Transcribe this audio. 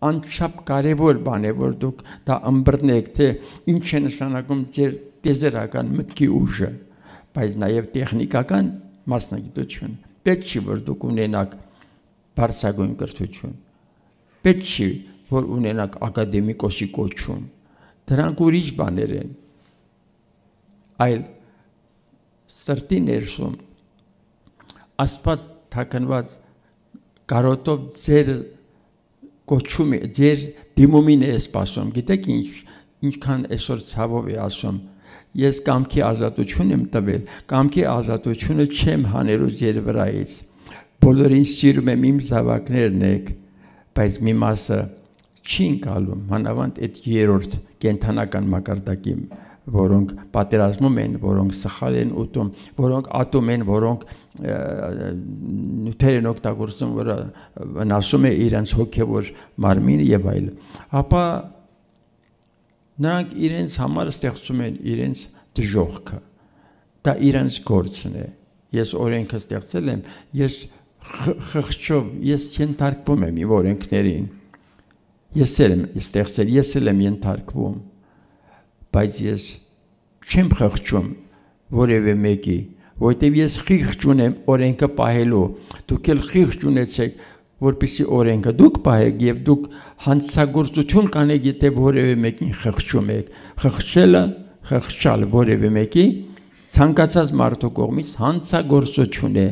անչափ կարևոր բան է, որ դուք դա ըմբռնեք, թե ինչ է նշանակում ձեր տեզերական մտքի ուժը, բայց նաև տեխնիկական մասնագիտություն։ Պետք չի, որ դուք ունենաք բարձրագույն կրթություն, պետք չի, որ ունենաք ակադեմիկոսի կոչում, դրանք ուրիշ բաներ են, այլ սրտի ներսում Աստված թաքնված կարոտով ձեր կոչում է, ձեր դիմումին է սպասում, գիտեք ինչքան այսօր ցավով է ասում, ես կամքի ազատություն եմ տվել, կամքի ազատությունը չեմ հանելու ձեր վրայից, բոլորին սիրում եմ իմ զավակներն եք, բայց մի մասը չի ընկալում, մանավանդ այդ երրորդ կենդանական մակարդակի, որոնք պատերազմում են, որոնք սխալ են ուտում, որոնք ատում են, որոնք նյութեր են օգտագործում, որը վնասում է իրենց հոգևոր մարմինը եւ այլն, ապա նրանք իրենց համար ստեղծում են իրենց դժոխքը, դա իրենց գործն է, ես օրենքը ստեղծել եմ, ես խղճով, ես ենթարկվում եմ իմ օրենքներին, ես եմ ստեղծել, ես եմ ենթարկվում, բայց ես չեմ խղճում որևէ մեկի, որտեւ ես խիղճ ունեմ օրենքը պահելու, դուք էլ խիղճ ունեցեք, որպեսզի օրենքը դուք պահեք եւ դուք հանցագործություն կանեք, եթե որևէ մեկին խղճում եք, խղճելը, խղճալ որևէ մեկի ցանկացած մարդու կողմից հանցագործություն է,